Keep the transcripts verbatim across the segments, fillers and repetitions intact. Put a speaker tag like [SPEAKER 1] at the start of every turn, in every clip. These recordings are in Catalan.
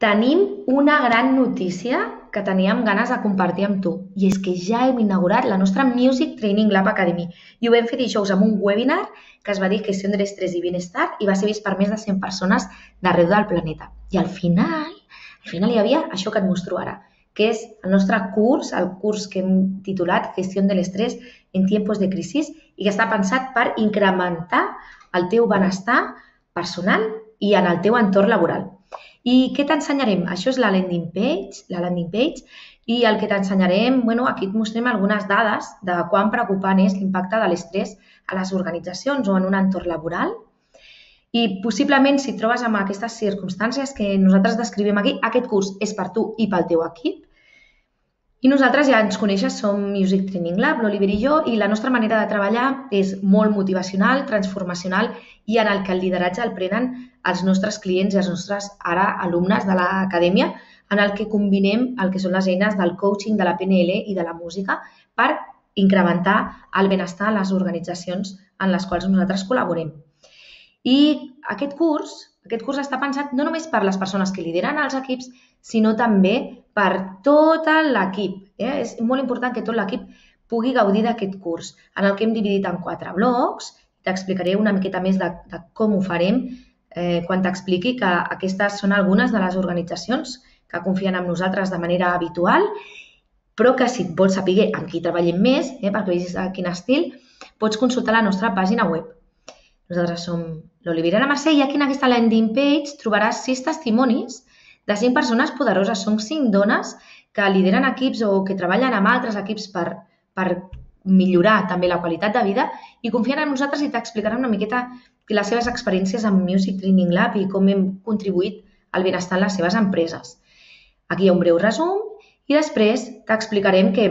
[SPEAKER 1] Tenim una gran notícia que teníem ganes de compartir amb tu, i és que ja hem inaugurat la nostra Music Training Lab Academy i ho vam fer dijous amb un webinar que es va dir Gestió de l'estrès i benestar i va ser vist per més de cent persones d'arreu del planeta. I al final, al final hi havia això que et mostro ara, que és el nostre curs, el curs que hem titulat Gestió de l'estrès en tiempos de crisi i que està pensat per incrementar el teu benestar personal i en el teu entorn laboral. I què t'ensenyarem? Això és la landing page, la landing page, i el que t'ensenyarem, bueno, aquí et mostrem algunes dades de quan preocupant és l'impacte de l'estrès a les organitzacions o en un entorn laboral. I possiblement, si et trobes amb aquestes circumstàncies que nosaltres descrivim aquí, aquest curs és per tu i pel teu equip. I nosaltres ja ens coneixes, som Music Training Lab, l'Oliver i jo, i la nostra manera de treballar és molt motivacional, transformacional i en el que el lideratge el prenen els nostres clients i els nostres ara alumnes de l'acadèmia, en el que combinem el que són les eines del coaching, de la P N L i de la música per incrementar el benestar a les organitzacions en les quals nosaltres col·laborem. I aquest curs, aquest curs està pensat no només per les persones que lideren els equips, sinó també per tot l'equip. Eh? És molt important que tot l'equip pugui gaudir d'aquest curs, en el que hem dividit en quatre blocs. T'explicaré una miqueta més de, de com ho farem eh, quan t'expliqui que aquestes són algunes de les organitzacions que confien en nosaltres de manera habitual, però que si vols saber amb qui treballem més, eh, perquè vegis quin estil, pots consultar la nostra pàgina web. Nosaltres som l'Oliver i la Mercè i aquí en aquesta landing page trobaràs sis testimonis de cinc persones poderoses. Són cinc dones que lideren equips o que treballen amb altres equips per, per millorar també la qualitat de vida i confien en nosaltres i t'explicaran una miqueta les seves experiències amb Music Training Lab i com hem contribuït al benestar en les seves empreses. Aquí hi ha un breu resum i després t'explicarem que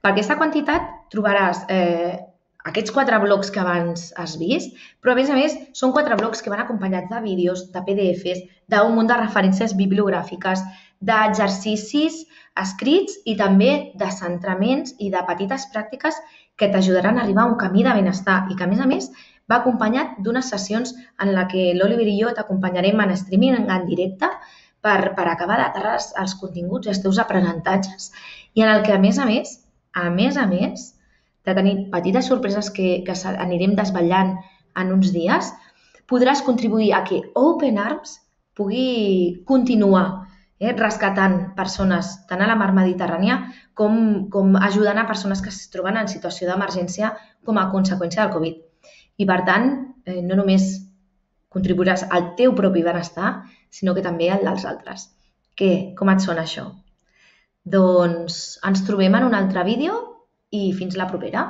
[SPEAKER 1] per aquesta quantitat trobaràs eh, aquests quatre blocs que abans has vist, però a més a més són quatre blocs que van acompanyats de vídeos, de P D Fs, d'un munt de referències bibliogràfiques, d'exercicis escrits i també de centraments i de petites pràctiques que t'ajudaran a arribar a un camí de benestar i que a més a més va acompanyat d'unes sessions en la que l'Oliver i jo t'acompanyarem en streaming, en directe, per, per acabar d'aterrar els continguts i els teus aprenentatges i en el que a més a més, a més a més, de tenir petites sorpreses que, que anirem desvetllant en uns dies, podràs contribuir a que Open Arms pugui continuar eh, rescatant persones tant a la mar Mediterrània com, com ajudant a persones que es troben en situació d'emergència com a conseqüència del Covid. I per tant, eh, no només contribuiràs al teu propi benestar, sinó que també al dels altres. Què? Com et sona això? Doncs ens trobem en un altre vídeo i fins la propera.